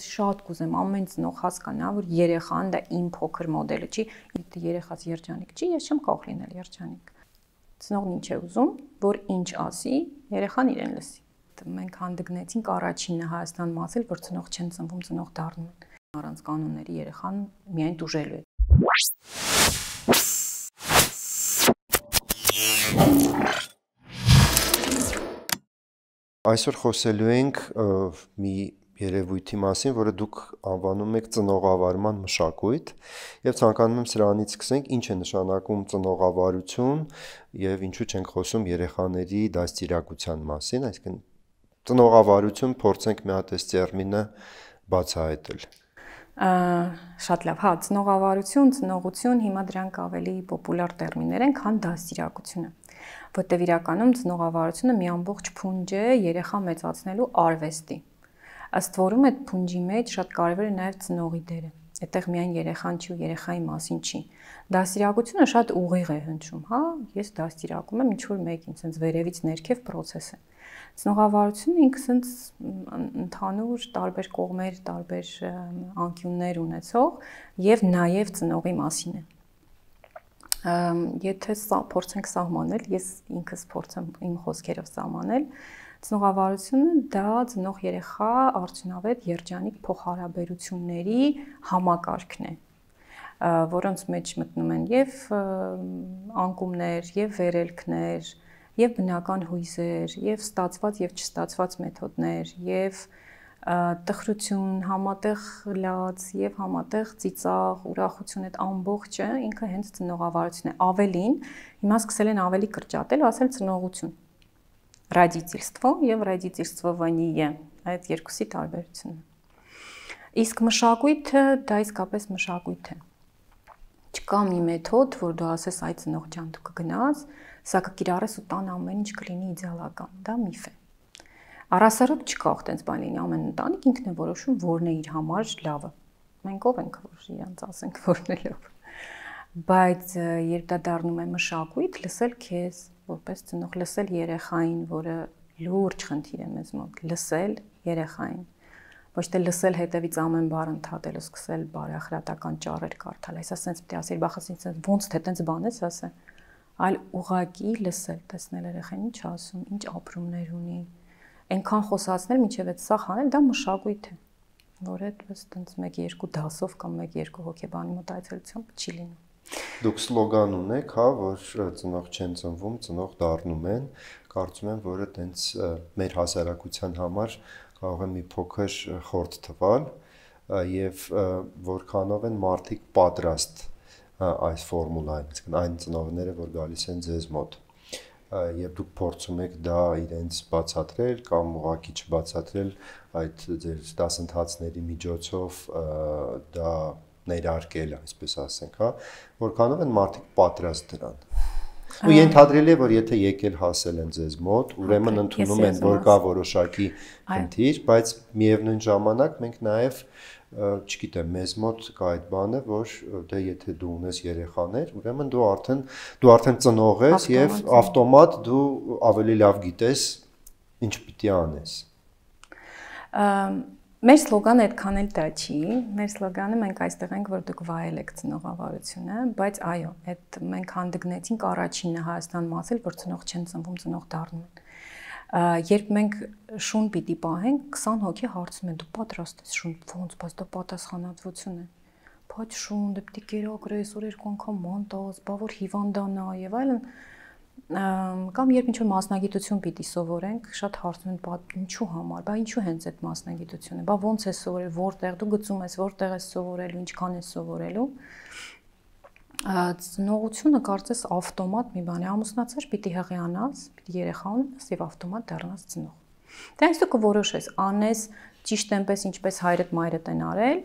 շատ կուզեմ ամեն ծնող հասկանա, որ երեխան դա իմ փոքր մոդելը չի, երեխաս երջանիկ չի, ես չեմ կարող լինել երջանիկ։ Ծնողն ինչ է ուզում, որ ինչ ասի, երեխան իրեն լսի։ Մենք հանդգնեցինք առաջինը Հայաստան մասել, որ ծնող չեն ծնվում, ծնող դառնում են։ Առանց կանոնների երեխան միայն տուժելու է։ Այսօր խոսելու ենք մի երևույթի մասին, որը դուք անվանում եք ծնողավարման մշակույթ, եւ ցանկանում եմ սրանից սկսենք, ինչ է նշանակում ծնողավարություն եւ ինչու չենք խոսում երեխաների դաստիարակության մասին, այսինքն ծնողավարություն փորձենք մի հատ այս տերմինը բացահայտել։ Շատ լավ, հա, ծնողավարություն, ծնողություն, հիմա դրանք ավելի պոպուլար տերմիններ են, քան դաստիարակությունը, որտեղ իրականում ծնողավարությունը մի ամբողջ փունջ է երեխա մեծացնելու արվեստի։ Ըստ որում այդ փունջի մեջ շատ կարևոր է նաև ծնողի դերը։ Այդտեղ միայն երեխան չի ու երեխայի մասին չի։ Դաստիարակությունը շատ ուղիղ է հնչում, հա, ես դաստիարակում եմ ինչ-որ մեկին, sense վերևից ներքև process է։ Ծնողավարությունը ինքը sense ընդհանուր տարբեր կողմեր, տարբեր անկյուններ ունեցող եւ նաեւ ծնողի մասին է։ Եթե փորձենք սահմանել, ես ինքս փորձեմ իմ խոսքերով սահմանել, ծնողավարությունը դա ծնող երեխա արդյունավետ երջանիկ փոխհարաբերությունների համակարգն է, որոնց մեջ մտնում են եւ անկումներ, եւ վերելքներ, եւ բնական հույզեր, եւ ստացված եւ չստացված մեթոդներ, եւ տխրություն, համատեղ լաց եւ համատեղ ծիծաղ, ուրախություն, այդ ամբողջը ինքը հենց ծնողավարությունն է։ Ավելին, հիմա սկսել են ավելի կրճատել, ասել ծնողություն։ Родительство եւ родительствование, այդ երկուսի տարբերությունն է։ Իսկ մշակույթը դա իսկապես մշակույթ է։ Չկա մի մեթոդ, որ դու ասես այ ծնող ջան, դու կգնաս, սա կկիրառես ու տան ամեն ինչ կլինի իդեալական, դա միֆ է։ Առասարակ չկա այդպես բան լինի, ամեն ընտանիք ինքն է որոշում որն է իր համար լավը։ Մենք ով ենք, որ իրանց ասենք որն է լավ։ Բայց երբ դա դառնում է մշակույթ, լսել քեզ, որպես ծնող, լսել երեխային, որը լուրջ խնդիր է մեզ մոտ, լսել երեխային։ Ոչ թե լսել հետևից ամեն բառ ընդհատել ու սկսել բարեխրատական ճառեր կարդալ, այս ասենց պետք է ասել, բախասից ոնց թե տենց բան ես ասե, այլ ուղղակի լսել, տեսնել երեխան ինչ ասում, ինչ ապրումներ ունի, այնքան խոսացնել, մինչև այդ սա հանել, դա մշակույթ է, որ այդպես տենց 1-2 դասով կամ 1-2 հոգեբանի մոտ այցելությամբ չի լինում։ Դուք սլոգան ունեք, հա, որ ծնող չեն ծնվում, ծնող դառնում են, կարծում եմ, որը տենց մեր հասարակության համար կարող է մի փոքր խորտ թվալ եւ որքանով են մարդիկ պատրաստ այս ֆորմուլային, այսինքն այն ծնողները, որ գալիս են ձեզ մոտ եւ դուք փորձում եք դա իրենց բացատրել կամ ուղղակի չբացատրել այդ ձեր դասընթացների միջոցով դա ներարկել, այսպես ասենք, հա, որքանով են մարդիկ պատրաստ դրան։ Ու ենթադրելի է, որ եթե եկել հասել են ձեզ մոտ, ուրեմն ընդունում են, որ կա որոշակի խնդիր, բայց միևնույն ժամանակ մենք նաև, չգիտեմ, մեզ մոտ կա այդ բանը, որ դե եթե դու ունես երեխաներ, ուրեմն դու արդեն ծնող ես եւ ավտոմատ դու ավելի լավ գիտես ինչ պիտի անես։ Մեր սլոգանը այդքան էլ դա չի, մեր սլոգանը մենք այստեղ ենք, որ դուք վայել եք ծնողավարությունը, բայց այո, այդ մենք հանդգնեցինք առաջինը Հայաստան մասել, որ ծնող չեն ծնվում, ծնող դառնում են։ Երբ մենք շուն պիտի պահենք, 20 հոգի հարցում են, դու պատրաստ ես շուն, ոնց, բայց դա պատասխանատվություն է։ Բայց շուն, դե պիտի կերակրես, որ 2 անգամ մանտաս, բա որ հիվանդանա եւ այլն։ Կամ երբ ինչ-որ մասնագիտություն պիտի սովորենք, շատ հարցնում են, ինչու համար, բա ինչու հենց այդ մասնագիտությունը, բա ոնց է սովորել, որտեղ դու գծում ես, որտեղ ես սովորելու, ինչքան ես սովորելու։ Ծնողությունը կարծես ավտոմատ մի բան է, ամուսնացած պիտի հղիանաս, պիտի երեխա ունենաս եւ ավտոմատ դառնաս ծնող։ Դե այս դու կորոշես, անես ճիշտ այնպես ինչպես հայրդ մայրդ են արել,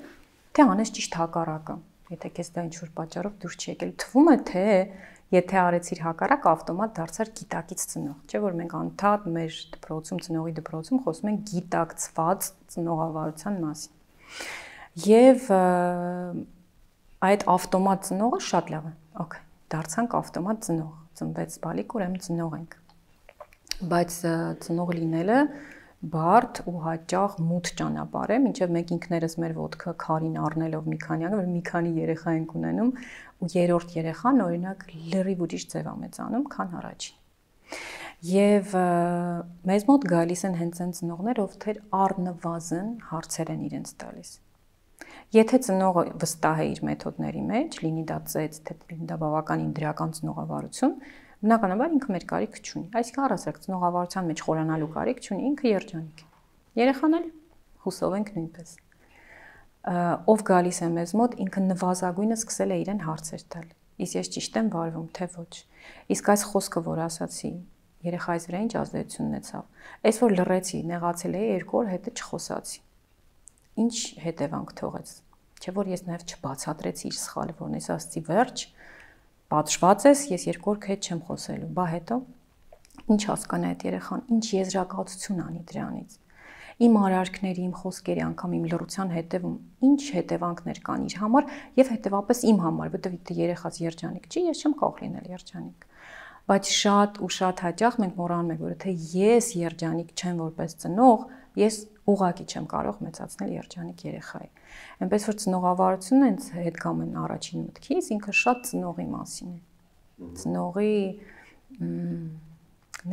թե անես ճիշտ հակառակը։ Եթե քեզ դա ինչ-որ պատճառով դուրս չի եկել, թվում է թե եթե արեցիր հակառակ, ավտոմատ դարձար գիտակից ծնող, չէ՞ որ մենք անդադ մեր դպրոցում, ծնողի դպրոցում խոսում ենք գիտակցված ծնողավարության մասին։ Եվ այդ ավտոմատ ծնողը շատ լավ է։ Okay, դարձանք ավտոմատ ծնող, ծնվեց բալիկ, ուրեմն ծնող ենք։ Բայց ծնող լինելը բարդ ու հաճախ մութ ճանապարհ է, մինչև մենք ինքներս մեր ոտքը քարին առնելով մի քանի անգամ, մի քանի երեխա ենք ունենում ու երրորդ երեխան օրինակ լրիվ ուրիշ ձև է մեծանում, քան առաջին։ Եվ մեզ մոտ գալիս են հենց այն ծնողներ, ովքեր առնվազն հարցեր են իրենց տալիս։ Եթե ծնողը վստահ է իր մեթոդների մեջ, լինի դա ծեծ, թե լինի դա բավականին դրական ծնողավարություն, բնականաբար ինքը մեր կարիք չունի։ Այսինքն առասարակ ծնողավարության մեջ խորանալու կարիք չունի, ինքը երջանիկ է։ Երեխան էլ հուսով ենք նույնպես։ Ով գալիս է մեզ մոտ, ինքը նվազագույնը սկսել է իրեն հարցեր տալ։ Իսկ ես ճիշտ եմ վարվում, թե ոչ։ Իսկ այս խոսքը, որ ասացի, երեխայիս վրա ինչ ազդեցություն ունեցավ։ Այս որ լռեցի, նեղացել էի 2 օր հետո չխոսացի։ Ինչ հետևանք թողեց։ Չէ՞ որ ես նաև չբացատրեցի իր սխալը, որն ես ասացի վերջ, պատժված ես, ես 2 օր քեզ չեմ խոսելու։ Բա հետո ինչ հասկանա այդ երեխան, ինչ եզրակացություն անի դրանից։ Իմ արարքների, իմ խոսքերի, անգամ իմ լռության հետևում ինչ հետևանքներ կան իր համար եւ հետեւապես իմ համար, որտեղ երեխաս երջանիկ չի, ես չեմ կարող լինել երջանիկ։ Բայց շատ ու շատ հաճախ մենք մոռանում ենք, որ թե ես երջանիկ չեմ որպես ծնող, ես ուղղակի չեմ կարող մեծացնել երջանիկ երեխայի։ Այնպես որ ծնողավարությունը հենց հետգամն առաջին մտքից ինքը շատ ծնողի մասին է։ Ծնողի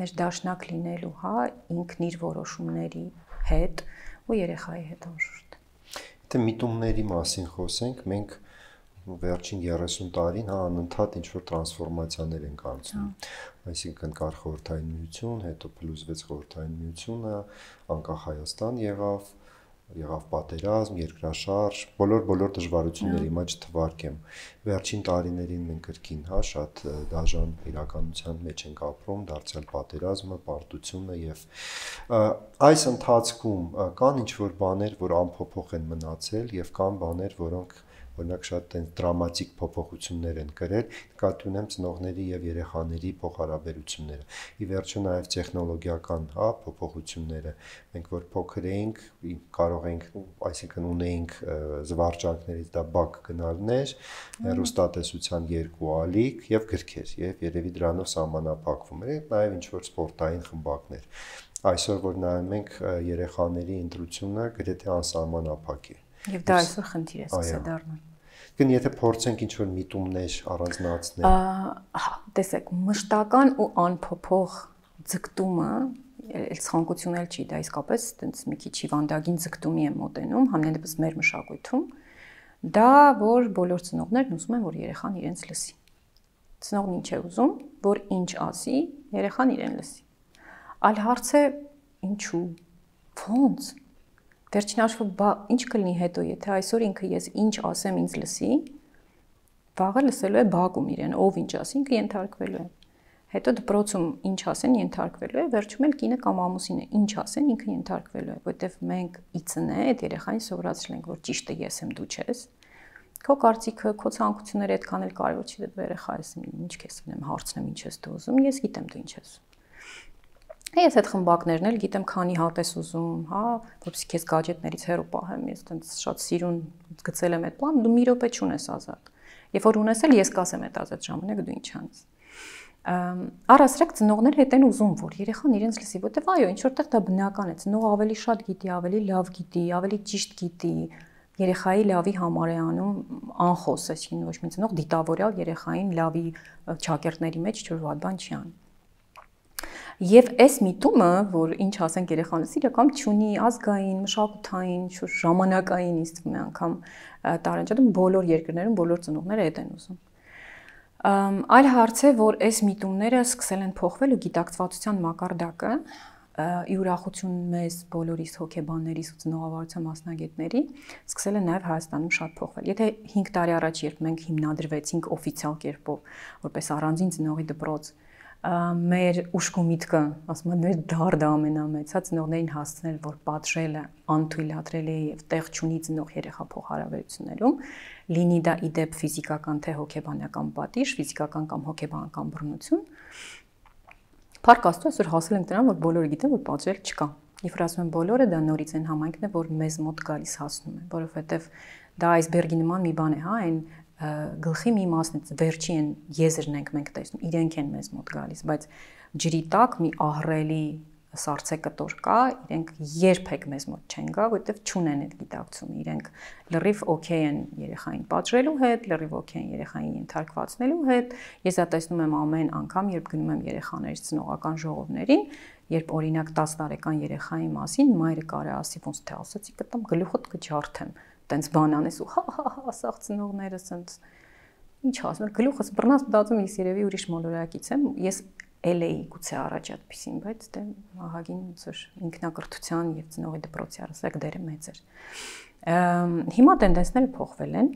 ներդաշնակ լինելու, հա, ինքն իր որոշումների հետ ու երեխայի հետ անշուշտ։ Եթե միտումների մասին խոսենք, մենք վերջին 30 տարին հա անընդհատ ինչ-որ տրանսֆորմացիաներ են անցնում։ Այսինքն կար խորհրդային միություն, հետո փլուզվեց խորհրդային միությունը, անկախ Հայաստան եղավ պատերազմ, երկրաշարժ, բոլոր դժվարությունները հիմա չթվարկեմ։ Վերջին տարիներին մենք կրկին, հա, շատ դաժան իրականության մեջ ենք ապրում, դարձյալ պատերազմը, պարտությունը եւ այս ընթացքում կան ինչ-որ բաներ, որ անփոփոխ են մնացել եւ կան բաներ, որոնք օրինակ շատ այն դրամատիկ փոփոխություններ են կրել, նկատի ունեմ ծնողների եւ երեխաների փոխհարաբերությունները։ Ի վերջո նաեւ տեխնոլոգիական, հա, փոփոխությունները, մենք որ փոքր էինք, կարող էինք, այսինքն ունեինք զվարճանքներից դա բակ գնալներ, հեռուստատեսության 2 ալիք եւ գրքեր, եւ երևի դրանով սահմանափակվում էր, նաեւ ինչ որ սպորտային խմբակներ։ Այսօր որ նայում ենք երեխաների ընտրությունը գրեթե անսահմանափակ է։ Եվ դա այսօր խնդիր է սկսել դառնալ։ Գն եթե փորձենք ինչ-որ միտումներ առանձնացնել։ Հա, տեսեք, մշտական ու անփոփոխ ձգտումը, էլ ցանկություն էլ չի, դա իսկապես այտենց մի քիչ հիվանդագին ձգտումի է մոտենում, համենայնիվս մեր մշակույթում, դա որ բոլոր ծնողներն ուզում են, որ երեխան իրենց լսի։ Ծնողն ինչ է ուզում, որ ինչ ասի, երեխան իրեն լսի։ Այլ հարց է ինչու, ո՞նց։ Վերջին հաշվով ինչ կլինի հետո, եթե այսօր ինքը ես ինչ ասեմ ինձ լսի, վաղը լսելու է բակում իրեն, ով ինչ ասի, ինքը ենթարկվելու է։ Հետո դպրոցում ինչ ասեն ենթարկվելու է, վերջում էլ կինը կամ ամուսինը ինչ ասեն, ինքը ենթարկվելու է, որտեվ մենք իծնե այդ երեխային սովորացրել ենք, որ ճիշտը ես եմ, դու չես։ Քո կարծիքը, քո ցանկությունները այդքան էլ կարևոր չի, դու երեխա ես, ինչ քեզ ունեմ, հարցնեմ ինչ ես դու ուզում, ես գիտեմ դու ինչ ես։ Ես այդ խմբակներն էլ գիտեմ քանի հատ ես ուզում, հա, որովհետեւ քեզ գadgetներից հեռու պահեմ, ես այտենց շատ սիրուն գծել եմ այդ պլան, դու մի րոպե չունես ազատ։ Երբ որ ունես էլ ես կասեմ այդ ազատ ժամանակ դու ինչ անես։ Առասարակ ծնողները հետ են ուզում, որ երեխան իրենց լսի, որտեվ այո, ինչ որտեղ դա բնական է, ծնողը ավելի շատ գիտի, ավելի լավ գիտի, ավելի ճիշտ գիտի, երեխայի լավի համար է անում անխոս, այսինքն ոչ մի ծնող դիտավորյալ երեխային լավի ճակերտների մեջ ինչ-որ վատ բան չի անում։ Եվ այս միտումը, որ ինչ ասենք երեխանից, իրական չունի ազգային, մշակութային, ժամանակային ինձ թվում է անգամ տարանջատում բոլոր երկրներում բոլոր ծնողները այդ են ուզում։ Այլ հարց է, որ այս միտումները սկսել են փոխվել ու գիտակցվածության մակարդակը ի ուրախություն մեզ բոլորիս հոգեբաններիս ու ծնողավարության մասնագետների սկսել է նաև Հայաստանում շատ փոխվել։ Եթե 5 տարի առաջ երբ մենք հիմնադրվեցինք օֆիցիալ կերպով որպես առանձին ծնողի դպրոց, մեր ուշք ու միտքը, ասում եմ, մեր դարդը ամենամեծ, հա, ծնողներին հասցնել, որ պատժելը անթույլատրել է եւ տեղ չունի ծնող-երեխա փոխհարաբերություններում, լինի դա իդեպ ֆիզիկական թե հոգեբանական պատիժ, ֆիզիկական կամ հոգեբանական բռնություն։ Փառք Աստծո, այսօր հասել ենք դրան, որ բոլորը գիտեն, որ պատժել չկա։ Եվ ասում են բոլորը, դա նորից այն համայնքն է, որ մեզ մոտ գալիս հասնում է, որովհետեւ դա այսբերգի նման մի բան է, հա, այն գլխի մի մասնից վերջի են եզրն ենք մենք տեսնում, իրենք են մեզ մոտ գալիս, բայց ջրի տակ մի ահռելի սառցե կտոր կա, իրենք երբեք մեզ մոտ չեն գա, որովհետև չունեն այդ գիտակցությունը, իրենք լրիվ օքեյ են երեխային պատժելու հետ, լրիվ օքեյ են երեխային ենթարկվածնելու հետ։ Ես դա տեսնում եմ ամեն անգամ, երբ գնում եմ երեխաներից ծնողական ժողովներին, երբ օրինակ 10 տարեկան երեխայի մասին մայրը կարա ասի, ոնց թե ասացի, կտամ գլուխդ կջարդեմ, տենց բան անես ու հա, սաղ ծնողներս ընդ ինչ ասում, գլուխս բռնած մտածում ես երևի ուրիշ մոլորակից եմ, ես էլ էի գուցե առաջ այդպեսին, բայց դե ահագին ոնց ինքնակրթության եւ ծնողի դպրոցի առասարակ դերը մեծ էր։ Հիմա տենդենսները փոխվել են։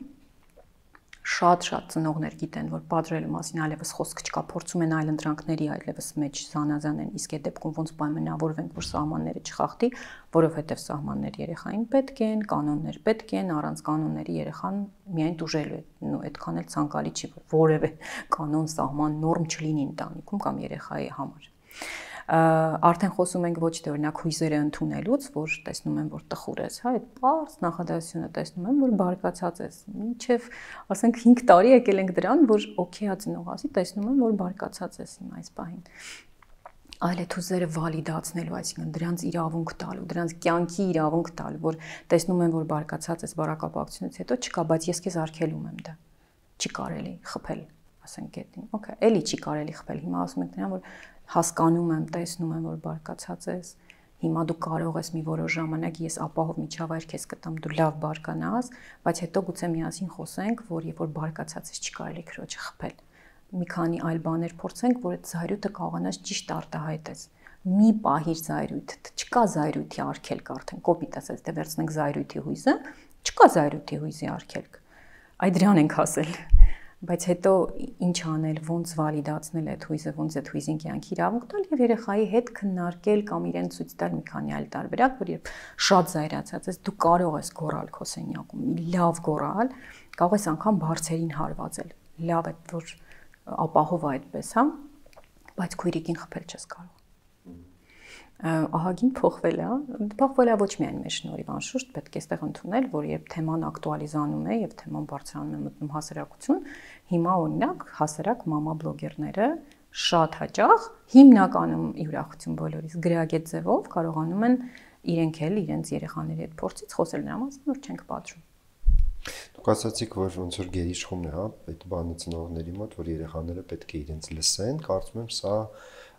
Շատ ծնողներ գիտեն, որ պատժելու մասին այլևս խոսք չկա, փորձում են այլ ընտրանքների այլևս մեջ զանազան են, իսկ այդ դեպքում ոնց պայմանավորվենք, որ սահմանները չխախտի, որովհետև սահմաններ երեխային պետք են, կանոններ պետք են, առանց կանոնների երեխան միայն տուժելու է, այդքան էլ ցանկալի չի, որ որևէ կանոն, սահման, նորմ չլինի ընտանիքում կամ երեխայի համար։ Արդեն խոսում ենք ոչ թե օրինակ հույզերը ընդունելուց, որ տեսնում եմ, որ տխուր ես, հա, այդ բարձ նախադասությունը տեսնում եմ, որ բարկացած ես։ Մինչև, ասենք 5 տարի եկել ենք դրան, որ օքեյ ծնող ասի, տեսնում եմ, որ բարկացած ես հիմա այս պահին։ Այլ այդ հույզերը վալիդացնելու, այսինքն դրանց իրավունք տալու, դրանց կյանքի իրավունք տալու, որ տեսնում եմ, որ բարկացած ես բարակապակցությունից հետո չկա, բայց ես քեզ արգելում եմ դա։ Չի կարելի խփել, ասենք գետին։ Okay, էլի չի կարելի խփել։ Հիմա ասում ենք նրան, որ հասկանում եմ, տեսնում եմ, որ բարկացած ես, հիմա դու կարող ես մի որոշ ժամանակ ես ապահով միջավայր քեզ կտամ, դու լավ բարկանաս, բայց հետո գուցե միասին խոսենք, որ երբ որ բարկացած ես չի կարելի քրոջը խփել։ Մի քանի այլ բաներ փորձենք, որ այդ զայրույթը կարողանաս ճիշտ արտահայտես։ Մի պահիր զայրույթ, չկա զայրույթի արգելք արդեն, կոպիտ ասած, դե վերցնենք զայրույթի հույզը, չկա զայրույթի հույզի արգելք։ Այդ դրան ենք ասել։ Բայց հետո ինչ անել, ոնց վալիդացնել այդ հույզը, ոնց այդ հույզին կյանքի իրավունք տալ եւ երեխայի հետ քննարկել կամ իրեն ցույց տալ մի քանի այլ տարբերակ, որ երբ շատ զայրացած ես, դու կարող ես գոռալ քո սենյակում, լավ գոռալ, կարող ես անգամ բարձերին հարվածել։ Լավ է, որ ապահով է այդպես, հա, բայց քույրիկին խփել չես կարող։ Ահագին փոխվել է, փոխվել է ոչ միայն մեր շնորհիվ, անշուշտ պետք է այստեղ ընդունել, որ երբ թեման ակտուալիզանում է եւ թեման բարձրանում է մտնում հասարակություն, հիմա օրինակ հասարակ մամա բլոգերները շատ հաճախ հիմնականում ուրախություն բոլորիս գրագետ ձևով կարողանում են իրենք էլ իրենց երեխաների հետ փորձից խոսել նրա մասին, որ չենք պատժում։ Դուք ասացիք, որ ոնց որ գերիշխումն է, հա, այդ բանը ծնողների մոտ, որ երեխաները պետք է իրենց լսեն, կարծում եմ սա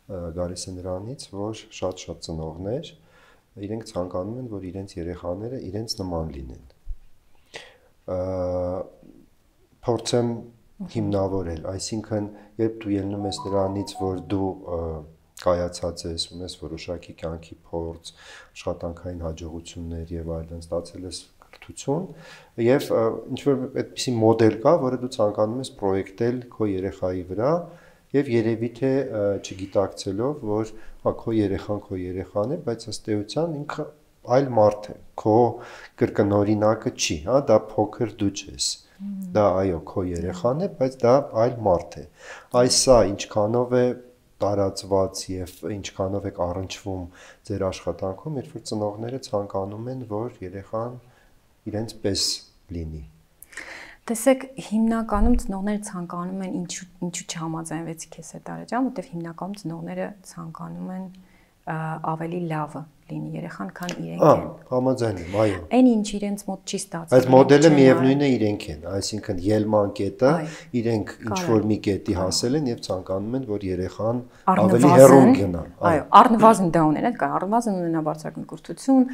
գալիս է նրանից, որ շատ ծնողներ իրենք ցանկանում են, որ իրենց երեխաները իրենց նման լինեն։ Փորձեմ հիմնավորել, այսինքն երբ դու ելնում ես նրանից, որ դու կայացած ես, ունես որոշակի կյանքի փորձ, աշխատանքային հաջողություններ եւ այլն, ստացել ես կրթություն եւ ինչ որ այդպիսի մոդել կա, որը դու ցանկանում ես պրոյեկտել քո երեխայի վրա եւ երևի թե չգիտակցելով, որ հա քո երեխան է, բայց ըստ էության ինքը այլ մարդ է, քո կրկնօրինակը չի, հա, դա փոքր դու ես։ Դա այո, քո երեխան է, բայց դա այլ մարդ է։ Այսա ինչքանով է տարածված եւ ինչքանով է առնչվում ձեր աշխատանքում, երբ որ ծնողները ցանկանում են, որ երեխան իրենց պես լինի։ Տեսեք, հիմնականում ծնողները ցանկանում են ինչու չհամաձայնվեցի քեզ հետ Արաջան, որտեղ հիմնականում ծնողները ցանկանում են ավելի լավը լինի երեխան, քան իրենք են։ Համաձայն եմ, այո։ Այն ինչ իրենց մոտ չի ստացվում։ Այդ մոդելը միևնույնն է իրենք են, այսինքն ելման կետը իրենք ինչ որ մի կետի հասել են եւ ցանկանում են, որ երեխան ավելի հեռու գնա։ Այո, առնվազն դա ունենա, կա առնվազն ունենա բարձրագույն կրթություն,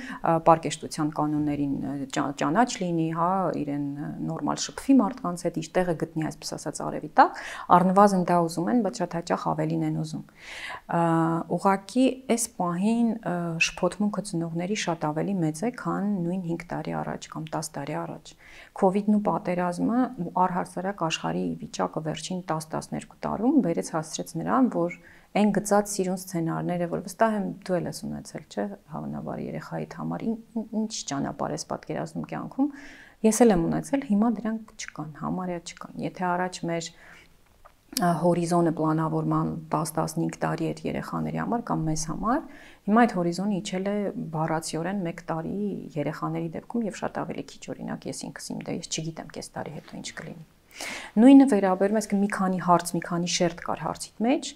պարկեշտության կանոններին ճանաչ լինի, հա, իրեն նորմալ շփվի մարդկանց հետ, իր տեղը գտնի, այսպես ասած, արևի տակ, առնվազն դա ուզում են, բայց շատ հաճախ ավելին են ուզում։ Ուղղակի այս պահին շփոթմունքը ծնողների շատ ավելի մեծ է, քան նույն 5 տարի առաջ կամ 10 տարի առաջ։ Քովիդն ու պատերազմը ու առհասարակ աշխարհի վիճակը վերջին 10-12 տարում բերեց հասցրեց նրան, որ այն գծած սիրուն սցենարները, որ վստահ եմ դու էլ ես ունեցել, չէ՞, հավանաբար երեխայիդ համար ինչ ճանապարհ ես պատկերացնում կյանքում, ես էլ եմ ունեցել, հիմա դրանք չկան, համարյա չկան։ Եթե առաջ մեր հորիզոնը պլանավորման 10-15 տարի էր երեխաների համար կամ մեզ համար, հիմա այդ հորիզոնը իջել է բառացիորեն 1 տարի երեխաների դեպքում եւ շատ ավելի քիչ, օրինակ ես ինքս իմ դե ես չգիտեմ կես տարի հետո ինչ կլինի։ Նույնը վերաբերում է, այսինքն մի քանի հարց, մի քանի շերտ կար հարցիդ մեջ,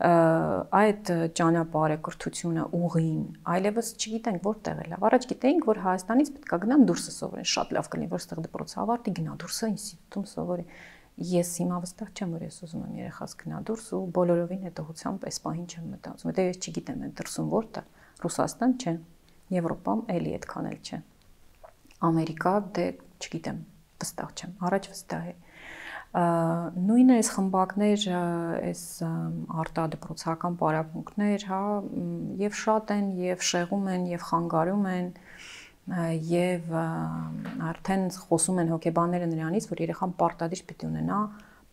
այդ ճանապարհը, կրթությունը, ուղին, այլևս չգիտենք որտեղ է լավ։ Առաջ գիտեինք, որ Հայաստանից պետք է գնան դուրսը սովորեն, շատ լավ կլինի, որ ստեղ դպրոցը ավարտի, գնա դուրսը ինստիտուտում սովորի։ Ես հիմա վստահ չեմ, որ ես ուզում եմ երեխաս գնա դուրս ու բոլորովին հետողությամբ այս պահին չեմ մտածում։ Որտեղ ես չգիտեմ այդ դրսում որտեղ, Ռուսաստան չէ, Եվրոպամ էլի այդքան էլ չէ։ Ամերիկա դե չգիտեմ, վստահ չեմ, առաջ վստահ է։ Նույնը այս խմբակներ, այս արտադպրոցական պարապմունքներ, հա, եւ շատ են, եւ շեղում են, եւ խանգարում են, եւ արդեն խոսում են հոգեբանները նրանից, որ երեխան պարտադիր պիտի ունենա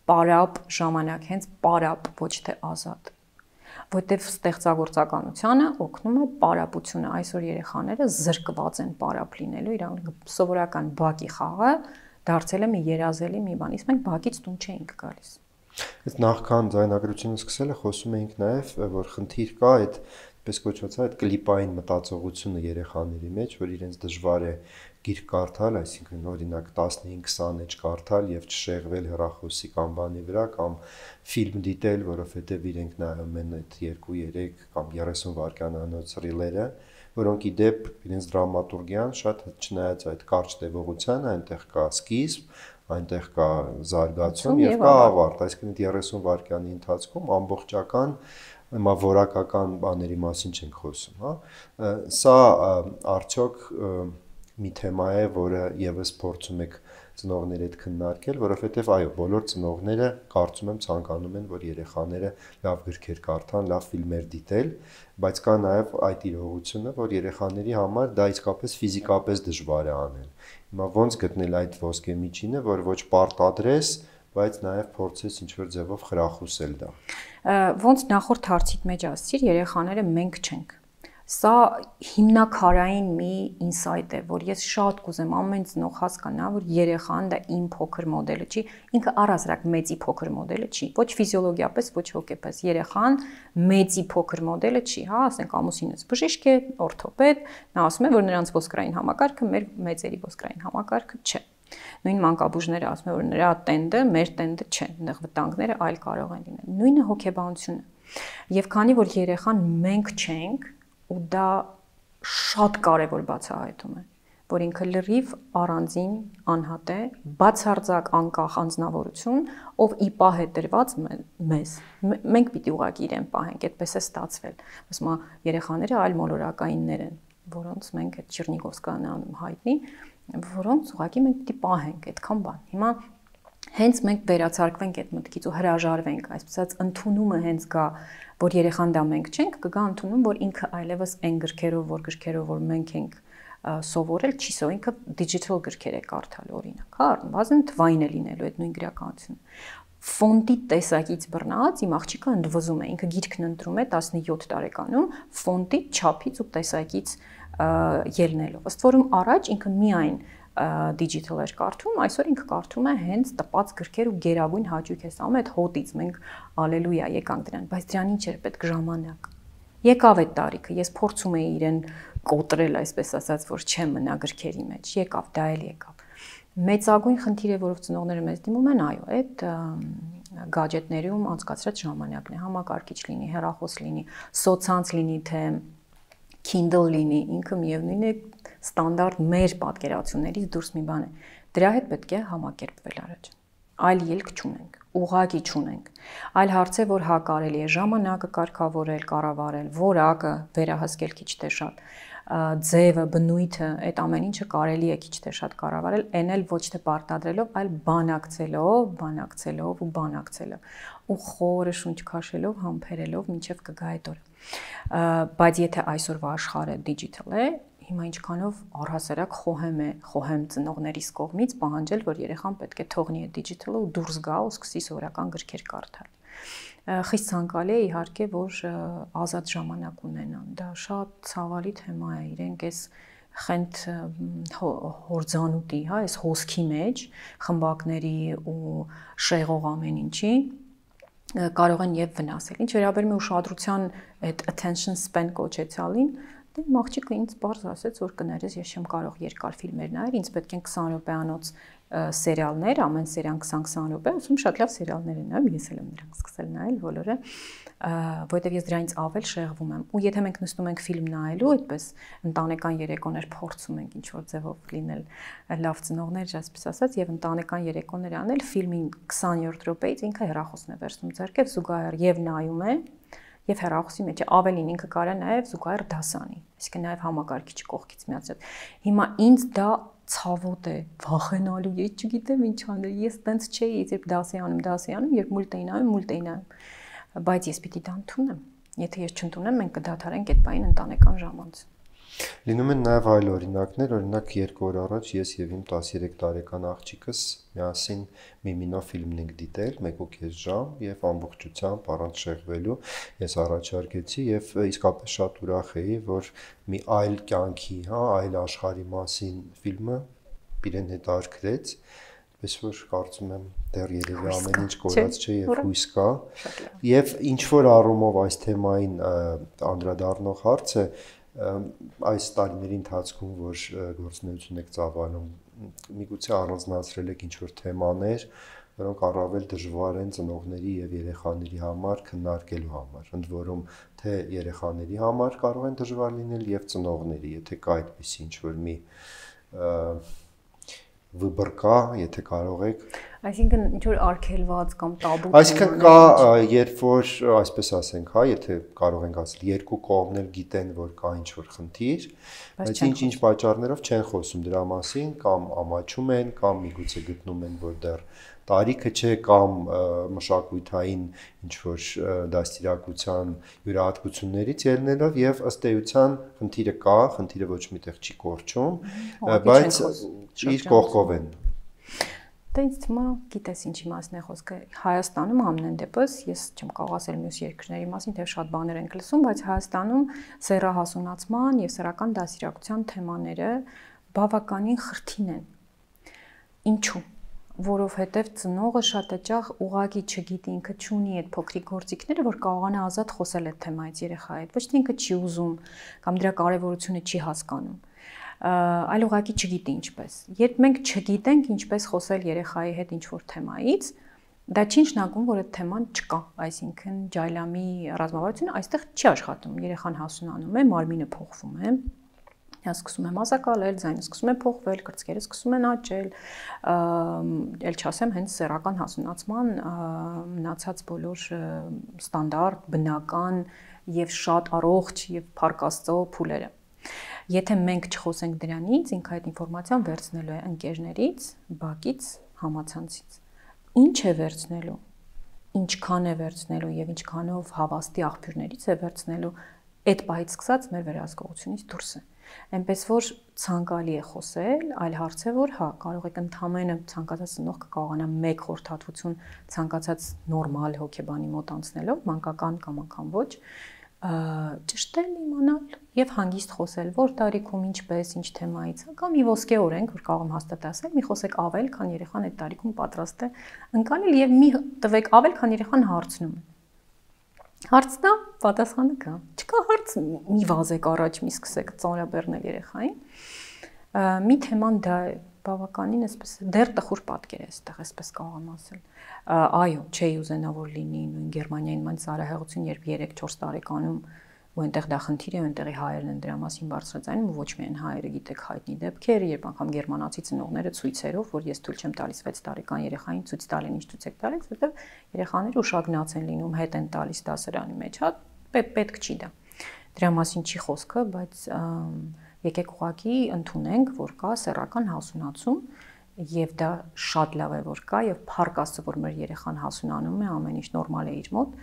պարապ ժամանակ, հենց պարապ, ոչ թե ազատ։ Որտեվ ստեղծագործականությանը օգնում է պարապությունը։ Այսօր երեխաները զրկված են պարապ լինելու, իրանք սովորական բակի խաղը դարձել է մի երազելի մի բան, իսկ մենք բակից տուն չէինք գալիս։ Այս նախքան ձայնագրությունը սկսելը խոսում էինք նաև, որ խնդիր կա այդ պես կոչված այդ կլիպային մտածողությունը երեխաների մեջ, որ իրենց դժվար է գիրք կարդալ, այսինքն օրինակ 15-20 էջ կարդալ եւ չշեղվել հեռախոսի կամ բանի վրա կամ ֆիլմ դիտել, որովհետեւ իրենք նայում են այդ 2-3 կամ 30 վայրկյանանոց ռիլերը, որոնք ի դեպ իրենց դրամատուրգիան շատ չնայած այդ կարճ տևողությանը այնտեղ կա սկիզբ, այնտեղ կա զարգացում եւ կա ավարտ, այսինքն 30 վայրկյանի ընթացքում ամբողջական հիմա որակական բաների մասին չենք խոսում, հա։ Սա արդյոք մի թեմա է, որը եւս փորձում եք ծնողների հետ քննարկել, որովհետեւ այո, բոլոր ծնողները կարծում եմ ցանկանում են, որ երեխաները լավ գրքեր կարդան, լավ ֆիլմեր դիտել, բայց կա նաեւ այդ իրողությունը, որ երեխաների համար դա իսկապես ֆիզիկապես դժվար է անել։ Հիմա ո՞նց գտնել այդ ոսկե միջինը, որ ոչ պարտադրես, բայց նաև փորձես ինչ-որ ձևով խրախուսել դա։ Ոնց նախորդ հարցիդ մեջ ասացիր, երեխաները մենք չենք։ Սա հիմնակարային մի ինսայթ է, որ ես շատ կուզեմ ամեն ծնող հասկանա, որ երեխան դա իմ փոքր մոդելը չի, ինքը առհասարակ մեծի փոքր մոդելը չի, ոչ ֆիզիոլոգիապես, ոչ հոգեպես։ Երեխան մեծի փոքր մոդելը չի, հա, ասենք ամուսինս բժիշկ է, օրթոպեդ, նա ասում է, որ նրանց ոսկրային համակարգը մեր մեծերի ոսկրային համակարգը չէ։ Նույն մանկաբույժները ասում են, որ նրա տենդը մեր տենդը չէ, այնտեղ վտանգները այլ կարող են լինել։ Նույնը հոգեբանությունը։ Եվ քանի որ երեխան մենք չենք, ու դա շատ կարևոր բացահայտում է, որ ինքը լրիվ առանձին անհատ է, բացարձակ անկախ անձնավորություն, ով ի պահ է տրված մեզ։ Մենք պիտի ուղղակի իրեն պահենք, այդպես է ստացվել։ Ասում եմ, երեխաները այլ մոլորակայիններ են, որոնց մենք այդ Չերնիգովսկան անում հայտնի, որոնց ուղղակի մենք պիտի պահենք այդքան բան։ Հիմա հենց մենք վերացարկվենք այդ մտքից ու հրաժարվենք, այսպես ասած ընդունումը հենց գա, որ երեխան դա մենք չենք, կգա ընդունում, որ ինքը այլևս այն գրքերով, որ մենք ենք սովորել, չի սո, ինքը digital գրքեր է կարդալ օրինակ, հա, բազեն թվային է լինելու այդ նույն գրականությունը։ Ֆոնտի տեսակից բռնած իմ աղջիկը ընդվզում է, ինքը գիրքն ընտրում է 17 տարեկանում, ֆոնտի չափից ու տեսակից ելնելով։ Ըստ որում առաջ ինքը միայն digital էր կարդում, այսօր ինքը կարդում է հենց տպած գրքեր ու գերագույն հաճույք է ստանում այդ հոտից, մենք ալելույա եկանք դրան, բայց դրան ինչ էր պետք ժամանակ։ Եկավ այդ տարիքը, ես փորձում էի իրեն կոտրել, այսպես ասած, որ չեմ մնա գրքերի մեջ, եկավ, դա էլ եկավ։ Մեծագույն խնդիր է, որով ծնողները մեզ դիմում են, այո, այդ գadgetներում անցկացրած ժամանակն է, համակարգիչ լինի, հեռախոս լինի, սոցցանց լինի, թե Kindle լինի, ինքը միևնույն է ստանդարտ մեր պատկերացումներից դուրս մի բան է։ Դրա հետ պետք է համակերպվել առաջ։ Այլ ելք չունենք, ուղղակի չունենք։ Այլ հարց է, որ հա կարելի է ժամանակը կարգավորել, կառավարել, որակը վերահսկել քիչ թե շատ, ձևը, բնույթը, այդ ամեն ինչը կարելի է քիչ թե շատ կառավարել, այն էլ ոչ թե պարտադրելով, այլ բանակցելով ու խորը շունչ քաշելով, համբերելով, մինչև կգա այդ օրը։ Բայց եթե այսօրվա աշխարհը digital է, հիմա ինչքանով առհասարակ խոհեմ ծնողներիս կողմից պահանջել, որ երեխան պետք է թողնի այդ digital-ը ու դուրս գա ու սկսի սովորական գրքեր կարդալ։ Խիստ ցանկալի է իհարկե, որ ազատ ժամանակ ունենան։ Դա շատ ցավալի թեմա է, իրենք այս խենթ հորձանուտի, հա, այս հոսքի մեջ խմբակների ու շեղող ամեն ինչի կարող են եւ վնասել։ Ինչ վերաբերում է ուշադրության այդ attention span կոչեցյալին, Դե իմ աղջիկը ինձ բարձ ասեց, որ կներես, ես չեմ կարող երկար ֆիլմեր նայել, ինձ պետք են 20 րոպեանոց սերիալներ, ամեն սերիան 20-20 րոպե, ասում շատ լավ սերիալներ են նայում, ես էլ եմ դրանք սկսել նայել բոլորը, որովհետև ես դրանից ավել շեղվում եմ։ Ու եթե մենք նստում ենք ֆիլմ նայելու, այդպես ընտանեկան երեկոներ փորձում ենք ինչ-որ ձևով լինել լավ ծնողներ, այսպես ասած, եւ ընտանեկան երեկոներ անել, ֆիլմին 20-րդ րոպեից ինքը հեռախոսն է վերցնում ձեռքև, զուգահեռ եւ նայում է, եւ հեռախոսի մեջ ավելին ինքը կարա նաեւ զուգահեռ դասանի, այսինքն նաեւ համակարգիչը կողքից միացրած։ Հիմա ինձ դա ցավոտ է, վախենալու, ես չգիտեմ ինչ անել, ես տենց չէի, երբ դասի անում, երբ մուլտ էի նայում, բայց ես պիտի դա ընդունեմ։ Եթե ես չընդունեմ, մենք կդադարենք այդ բային ընտանեկան ժամանց։ Լինում են նաև այլ օրինակներ, օրինակ 2 օր առաջ ես եւ իմ 13 տարեկան աղջիկս միասին Միմինո ֆիլմն ենք դիտել 1.5 ժամ եւ ամբողջությամբ առանց շեղվելու ես առաջարկեցի եւ իսկապես շատ ուրախ էի, որ մի այլ կյանքի, այլ աշխարհի մասին ֆիլմը իրեն հետաքրքրեց, պես որ կարծում եմ դեռ երևի ամեն ինչ կորած չէ եւ հույս կա եւ ինչ որ առումով այս թեմային անդրադառնող հարցը այս տարիների ընթացքում որ գործունեություն եք ծավալում միգուցե առանձնացրել եք ինչ-որ թեմաներ, որոնք առավել դժվար են ծնողների եւ երեխաների համար քննարկելու համար, ընդ որում թե երեխաների համար կարող են դժվար լինել եւ ծնողների, եթե կա այդպիսի ինչ-որ մի վыбор կա, եթե կարող եք Այսինքն ինչ որ արգելված կամ տաբու Այսինքն կա, երբ որ այսպես ասենք, եթե կարող ենք ասել, երկու կողմն էլ գիտեն, որ կա ինչ-որ խնդիր, բայց ինչ-ինչ պատճառներով չեն խոսում դրա մասին, կամ ամաչում են, կամ միգուցե գտնում են, որ դեռ տարիքը չէ, կամ մշակութային ինչ-որ դաստիարակության յուրահատկություններից ելնելով եւ ըստ էության խնդիրը կա, խնդիրը ոչ միտեղ չի կորչում, բայց իր կողքով են Դա ինձ թվում է, գիտես ինչի մասն է խոսքը։ Հայաստանում ամենայն դեպս, ես չեմ կարող ասել մյուս երկրների մասին, թե շատ բաներ ենք լսում, բայց Հայաստանում սեռահասունացման եւ սեռական դաստիարակության թեմաները բավականին խրթին են։ Ինչու՞։ Որովհետև ծնողը շատ հաճախ ուղղակի չգիտի, ինքը չունի այդ փոքրիկ գործիքները, որ կարողանա ազատ խոսել այդ թեմայից երեխայի հետ։ Ոչ թե ինքը չի ուզում կամ դրա կարևորությունը չի հասկանում, այլ ուղղակի չգիտի ինչպես։ Երբ մենք չգիտենք ինչպես խոսել երեխայի հետ ինչ-որ թեմայից, դա չի նշանակում, որ այդ թեման չկա, այսինքն ջայլամի ռազմավարությունը այստեղ չի աշխատում։ Երեխան հասունանում է, մարմինը փոխվում է, նա սկսում է մազակալել, ձայնը սկսում է փոխվել, կրծքերը սկսում են աճել, ել չասեմ հենց սեռական հասունացման մնացած բոլոր ստանդարտ, բնական եւ շատ առողջ եւ փառք Աստծո փուլերը։ Եթե մենք չխոսենք դրանից, ինքը այդ ինֆորմացիան վերցնելու է ընկերներից, բակից, համացանցից։ Ինչ է վերցնելու, ինչքան է վերցնելու եւ ինչքանով հավաստի աղբյուրներից է վերցնելու, այդ պահից սկսած մեր վերահսկողությունից դուրս է։ Այնպես որ ցանկալի է խոսել, այլ հարց է որ հա կարող եք ընդհանրապես ցանկացած ծնող կկարողանա մեկ խորհրդատվություն ցանկացած նորմալ հոգեբանի մոտ անցնելով, մանկական կամ անգամ ոչ, ճշտել իմանալ եւ հանգիստ խոսել, որ տարիքում ինչպես, ինչ թեմայից, կամ մի ոսկե օրենք, որ կարող եմ հաստատ ասել, մի խոսեք ավել, քան երեխան այդ տարիքում պատրաստ է ընկալել եւ մի տվեք ավել, քան երեխան հարցնում է։ Հարցնա, պատասխանը կա։ Չկա հարց, մի վազեք առաջ, մի սկսեք ծանրաբեռնել երեխային։ Մի թեման դա է, բավականին այսպես դեռ տխուր պատկեր է այստեղ, այսպես կարող եմ ասել։ Այո, չէի ուզենա որ լինի նույն Գերմանիային ման ծառայողություն, երբ 3-4 տարեկանում ու այնտեղ դա խնդիր է, այնտեղի հայերն են դրա մասին բարձրացնում ու ոչ միայն հայերը, գիտեք, հայտնի դեպքեր, երբ անգամ գերմանացի ծնողները ցույցերով, որ ես թույլ չեմ տալիս 6 տարեկան երեխային ցույց տալին, ինչ ցույց եք տալիս, որովհետև երեխաները ուշագնաց են լինում, հետ են տալիս դասարանի մեջ, հա, պետք չի դա։ Դրա մասին չի խոսքը, բայց եկեք ուղղակի ընդունենք, որ կա սեռական հասունացում եւ դա շատ լավ է որ կա եւ փառք Աստծո որ մեր երեխան հասունանում է, ամեն ինչ նորմալ է իր մոտ,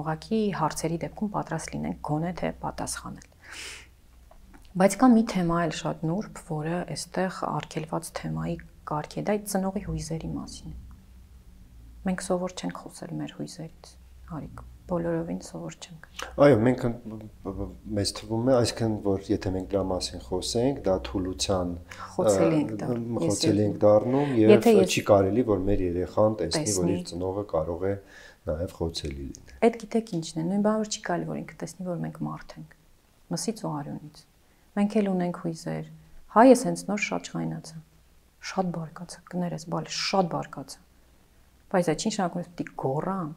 ուղղակի հարցերի դեպքում պատրաստ լինենք գոնե թե պատասխանել։ Բայց կա մի թեմա էլ շատ նուրբ, որը այստեղ արգելված թեմայի կարգ է, դա ծնողի հույզերի մասին։ Մենք սովոր չենք խոսել մեր հույզերից, Հարիկ, բոլորովին սովոր չենք։ Այո, մենք մեզ թվում է, այսինքն որ եթե մենք դրա մասին խոսենք, դա թուլության խոցելի ենք դառնում եւ չի կարելի որ մեր երեխան տեսնի, որ իր ծնողը կարող է նաեւ խոցելի լինել։ Այդ գիտեք ինչն է, նույն բանը որ չի կարելի որ ինքը տեսնի, որ մենք մարդ ենք։ Մսից ու արյունից։ Մենք էլ ունենք հույզեր։ Հայս հենց նոր շատ ջղայնացա։ Շատ բարկացա, կներես, բալի շատ բարկացա։ Բայց այդ ինչ նշանակում է պիտի գոռամ։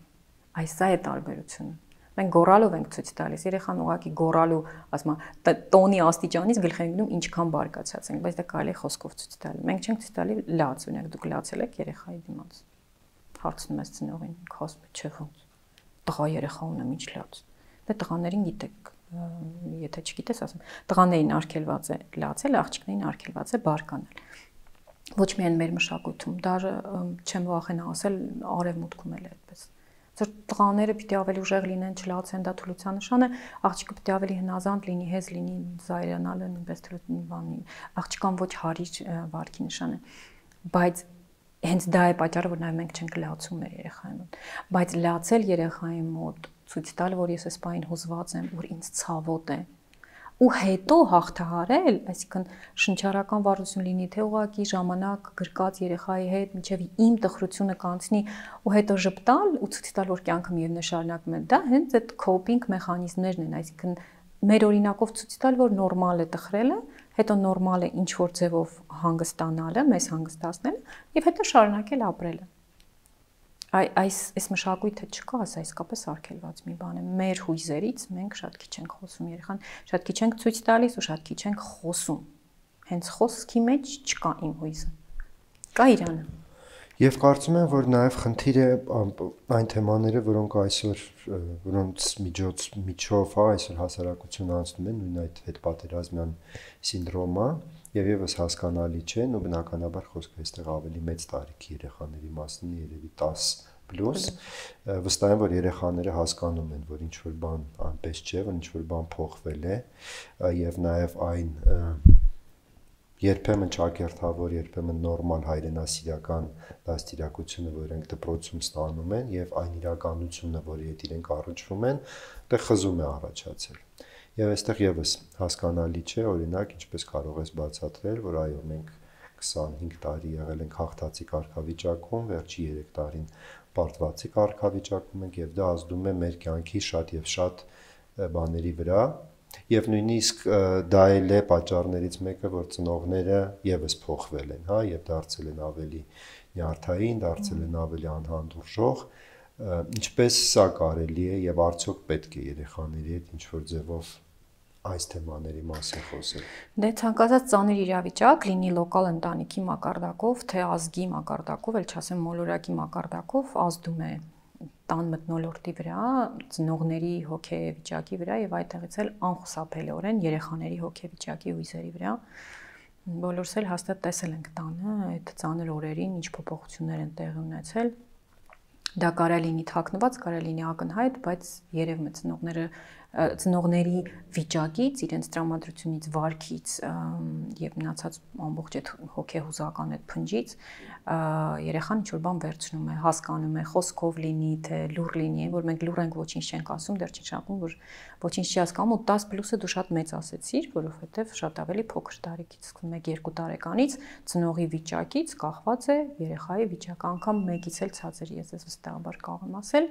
Այս է տարբերությունը։ Մենք գոռալով ենք ցույց տալիս, երեխան ուղղակի գոռալու, ասում է, տոնի աստիճանից գլխի ընկնում ինչքան բարկացած ենք, բայց դա կարելի է խոսքով ցույց տալ։ Մենք չենք ցույց տալի լաց, օրինակ դուք լացել եք երեխայի դիմաց։ Հարցնում ես ծնողին, խոսում չէ ոնց։ Տղա երեխա ունեմ, ինչ լաց։ Դե տղաներին գիտեք, եթե չգիտես, ասում, տղաներին արգելված է լացել, աղջիկներին արգելված է բարկանալ։ Ոչ միայն մեր մշակույթում, դեռ չեմ վախենա ասել արևմուտքում էլ է այդպես։ Ձեր տղաները պիտի ավելի ուժեղ լինեն, չլացեն, դա թուլության նշան է, աղջիկը պիտի ավելի հնազանդ լինի, հեզ լինի, զայրանալը նույնպես թուլության բանի, աղջկան ոչ հարիր վարքի նշան է։ Բայց հենց դա է պատճառը, որ նաև մենք չենք լացում մեր երեխայի մոտ։ Բայց լացել երեխայի մոտ, ցույց տալ, որ ես այս բանին հուզված եմ, որ ինձ ցավոտ է։ Ու հետո հաղթահարել, այսինքն շնչառական վարություն լինի, թե ուղղակի ժամանակ գրկած երեխայի հետ, մինչև իմ տխրությունը կանցնի ու հետո ժպտալ ու ցույց տալ, որ կյանքը միևնույն է շարունակում է։ Դա հենց այդ coping մեխանիզմներն են, այսինքն մեր օրինակով ցույց տալ, որ նորմալ է տխրելը, հետո նորմալ է ինչ որ ձևով հանգստանալը, մեզ հանգստացնելը եւ հետո շարունակել ապրելը։ Այս մշակույթը չկա, սա իսկապես արգելված մի բան է։ Մեր հույզերից մենք շատ քիչ ենք խոսում երեխան, շատ քիչ ենք ցույց տալիս ու շատ քիչ ենք խոսում։ Հենց խոսքի մեջ չկա իմ հույզը։ Կա Իրանը։ Եվ կարծում եմ, որ նաև խնդիր է այն թեմաները, որոնց միջով այսօր հասարակությունը անցնում է, նույն այդ հետպատերազմյան սինդրոմը, եւ եւս հասկանալի չէ, ու բնականաբար խոսքը այստեղ ավելի մեծ տարիքի երեխաների մասին է, երևի 10+, վստահ եմ, որ երեխաները հասկանում են, որ ինչ որ բան այնպես չէ, որ ինչ որ բան փոխվել է, եւ նաեւ այն երբեմն ճակերտավոր, երբեմն նորմալ հայրենասիրական դաստիարակությունը, որ իրենք դպրոցում ստանում են, եւ այն իրականությունը, որի հետ իրենք առնչվում են, դա խզում է առաջացել։ Եվ այստեղ եւս հասկանալի չէ, օրինակ, ինչպես կարող ես բացատրել, որ այո, մենք 25 տարի եղել ենք հաղթածի կարգավիճակում, վերջի 3 տարին պարտվածի կարգավիճակում ենք, եւ դա ազդում է մեր կյանքի շատ եւ շատ բաների վրա։ Եվ նույնիսկ դա էլ է պատճառներից մեկը, որ ծնողները եւս փոխվել են, հա, եւ դարձել են ավելի նյարդային, դարձել են ավելի անհանդուրժող, ինչպես սա կարելի է եւ արդյոք պետք է երեխաների հետ ինչ որ ձևով այս թեմաների մասին խոսել։ Դե ցանկացած ծանր իրավիճակ, լինի լոկալ ընտանիքի մակարդակով, թե ազգի մակարդակով, էլ չասեմ մոլորակի մակարդակով, ազդում է տան մթնոլորտի վրա, ծնողների հոգեվիճակի վրա եւ այդտեղից էլ անխուսափելիորեն երեխաների հոգեվիճակի հույզերի վրա։ Բոլորս էլ հաստատ տեսել ենք տանը այդ ծանր օրերին ինչ փոփոխություններ են տեղի ունեցել։ Դա կարա լինի թաքնված, կարա լինի ակնհայտ, բայց երևում է ծնողների վիճակից, իրենց տրամադրությունից, վարքից եւ մնացած ամբողջ այդ հոգեհուզական այդ փնջից երեխան ինչ որ բան վերցնում է, հասկանում է, խոսքով լինի, թե լուր լինի, որ մենք լուր ենք, ոչինչ չենք ասում, դեռ չի շապում, որ ոչինչ չի հասկանում ու 10+-ը դու շատ մեծ ասեցիր, որովհետեւ շատ ավելի փոքր տարիքից, 1-2 տարեկանից ծնողի վիճակից կախված է երեխայի վիճակը, անգամ մեկից էլ ցածր, ես վստահաբար կարող եմ ասել,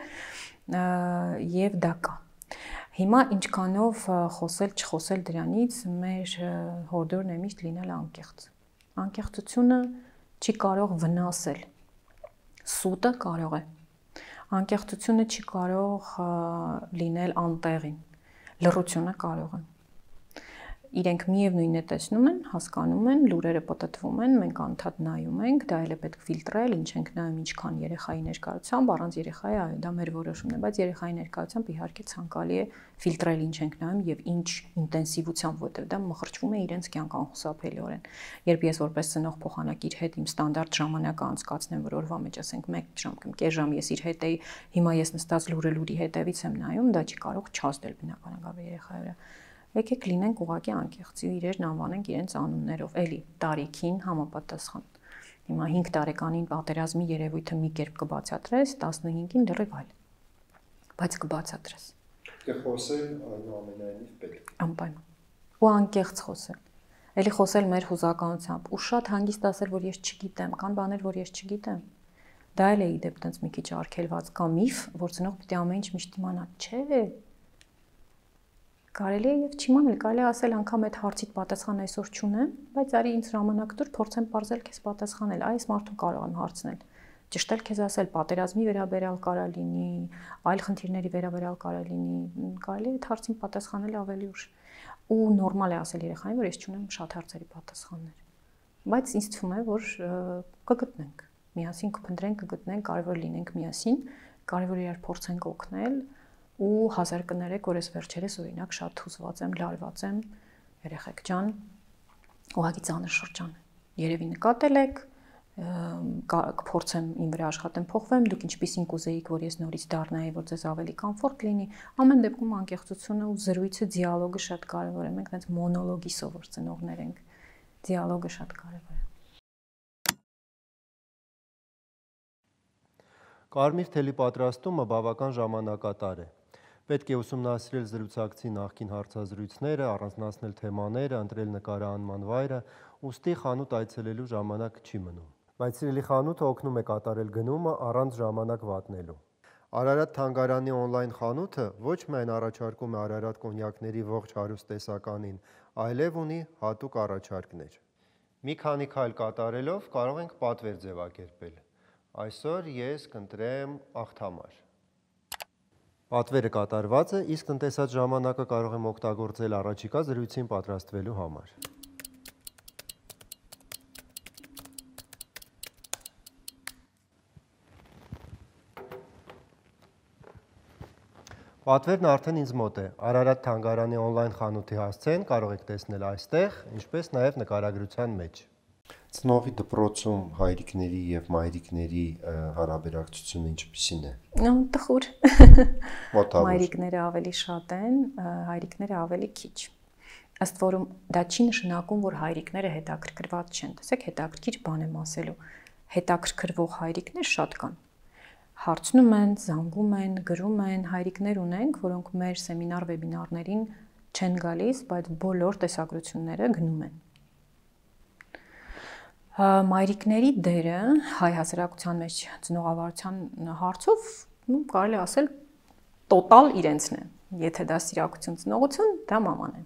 եւ դա կա։ Հիմա ինչքանով խոսել, չխոսել դրանից, մեր հորդորն է միշտ լինել անկեղծ։ Անկեղծությունը չի կարող վնասել, սուտը կարող է։ Անկեղծությունը չի կարող լինել անտեղին, լռությունը կարող է։ Իրենք միևնույնն է տեսնում են, հասկանում են, լուրերը պատտվում են, մենք անդադ նայում ենք, դա էլ է պետք ֆիլտրել, ինչ ենք նայում, ինչքան երեխայի ներկայությամբ, առանց երեխայի, այո, դա մեր որոշումն է, բայց երեխայի ներկայությամբ իհարկե ցանկալի է ֆիլտրել, ինչ ենք նայում եւ ինչ ինտենսիվությամբ, որտեղ դա մխրճվում է իրենց կյանք անխուսափելիորեն։ Երբ ես որպես ծնող փոխանակիր հետ իմ ստանդարտ ժամանակը անցկացնեմ, որ օրվա մեջ ասենք 1 ժամ կամ կես ժամ ես իր հետ էի, հիմա ես նստած լուրի հետևից եմ նայում, դա չի կարող չազդել բնականաբար երեխայի վրա։ Եկեք լինենք ուղղակի անկեղծ, իրերն անվանենք իրենց անուններով, էլի տարիքին համապատասխան։ Հիմա 5 տարեկանին պատերազմի երևույթը մի կերպ կբացատրես, 15-ին լրիվ այլ։ Բայց կբացատրես։ Կխոսել այնուամենայնիվ պետք։ Անպայման։ Ու անկեղծ խոսել։ Էլի խոսել մեր հուզականությամբ ու շատ հանգիստ ասել, որ ես չգիտեմ, կան բաներ, որ ես չգիտեմ։ Դա էլ է իդեպ տենց մի քիչ արգելված կա միֆ, որ ծնող պիտի ամեն ինչ միշտ իմանա, չէ։ Կարելի է եւ չիմանալ, կարելի է ասել անգամ այդ հարցիդ պատասխան այսօր չունեմ, բայց արի ինձ ժամանակ տուր, փորձեմ բարձել քեզ պատասխանել, այս մարդուն կարող եմ հարցնել։ Ճշտել քեզ ասել, պատերազմի վերաբերյալ կարա լինի, այլ խնդիրների վերաբերյալ կարա լինի, կարելի է այդ հարցին պատասխանել ավելի ուշ։ Ու նորմալ է ասել երեխային, որ ես չունեմ շատ հարցերի պատասխաններ։ Բայց ինձ թվում է, որ կգտնենք, միասին կփնտրենք, կգտնենք, կարևոր լինենք միասին, կարևոր իրար փորձենք օգնել ու հազար կներեք, որ ես վերջերս օրինակ շատ հուզված եմ, լարված եմ, երեխեք ջան, ուղղակի ծանր շրջան է։ Երևի նկատել եք, կփորձեմ իմ վրա աշխատեմ փոխվեմ, դուք ինչպեսին կուզեիք, որ ես նորից դառնայի, որ ձեզ ավելի կոմֆորտ լինի, ամեն դեպքում անկեղծությունը ու զրույցը, դիալոգը շատ կարևոր է, մենք այնպես մոնոլոգի սովոր ծնողներ ենք, դիալոգը շատ կարևոր է։ Կարմիր թելի պատրաստումը բավական ժամանակատար է։ Պետք է ուսումնասիրել զրուցակցի նախկին հարցազրույցները, առանձնացնել թեմաները, ընտրել նկարահանման վայրը, ուստի խանութ այցելելու ժամանակ չի մնում։ Բայց սիրելի խանութը օգնում է կատարել գնումը առանց ժամանակ վատնելու։ Արարատ թանգարանի օնլայն խանութը ոչ միայն առաջարկում է Արարատ կոնյակների ողջ հարուստ տեսականին, այլև ունի հատուկ առաջարկներ։ Մի քանի քայլ կատարելով կարող ենք պատվեր ձևակերպել։ Այսօր ես կընտրեմ աղթամար։ Պատվերը կատարված է, իսկ տնտեսած ժամանակը կարող եմ օգտագործել առաջիկա զրույցին պատրաստվելու համար։ Պատվերն արդեն ինձ մոտ է։ Արարատ թանգարանի օնլայն խանութի հասցեն կարող եք տեսնել այստեղ, ինչպես նաև նկարագրության մեջ։ Ծնողի դպրոցում հայրիկների եւ մայրիկների հարաբերակցությունը ինչպիսին է։ Տխուր։ Մոտավոր։ Մայրիկները ավելի շատ են, հայրիկները ավելի քիչ։ Ըստ որում դա չի նշանակում, որ հայրիկները հետաքրքրված չեն։ Տեսեք, հետաքրքիր բան եմ ասելու։ Հետաքրքրվող հայրիկներ շատ կան։ Հարցնում են, զանգում են, գրում են, հայրիկներ ունենք, որոնք մեր սեմինար վեբինարներին չեն գալիս, բայց բոլոր տեսագրությունները գնում են։ Մայրիկների դերը հայ հասարակության մեջ ծնողավարության հարցով կարելի ասել տոտալ իրենցն է։ Եթե դա սիրակություն ծնողություն, դա մաման է։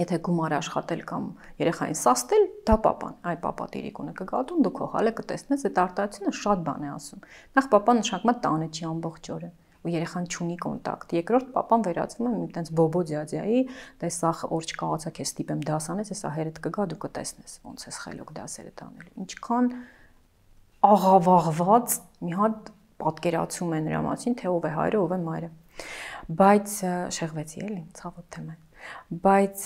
Եթե գումար աշխատել կամ երեխային սաստել, դա պապան։ Այ պապա տիրիկունը կգատուն, դու քո հալը կտեսնես, այդ արտահայտությունը շատ բան է ասում։ Նախ պապան նշանակում է տանը չի ամբողջ օրը, ու երեխան չունի կոնտակտ։ Երկրորդ պապան վերածվում է մի տենց բոբո ձյաձյայի, դե սա օր չկաղացա քեզ ստիպեմ դաս անես, հեսա հերդ կգա, դու կտեսնես ոնց ես խելոք դասերը տանելու։ Ինչքան աղավաղված մի հատ պատկերացում է նրա մասին, թե ով է հայրը, ով է մայրը։ Բայց շեղվեցի էլի, ցավոտ թեմա։ Բայց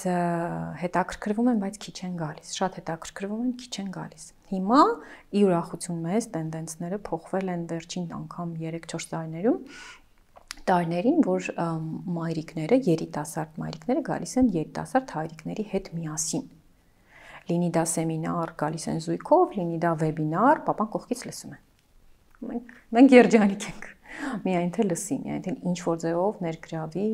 հետաքրքրվում են, բայց քիչ են գալիս, շատ հետաքրքրվում են, քիչ են գալիս։ Հիմա ի ուրախություն մեզ տենդենսները փոխվել են վերջին անգամ 3-4 տարիներին, որ մայրիկները, երիտասարդ մայրիկները գալիս են երիտասարդ հայրիկների հետ միասին։ Լինի դա սեմինար, գալիս են զույգով, լինի դա վեբինար, պապան կողքից լսում է։ Մենք երջանիկ ենք։ Միայն թե լսի, միայն թե ինչ որ ձևով ներգրավի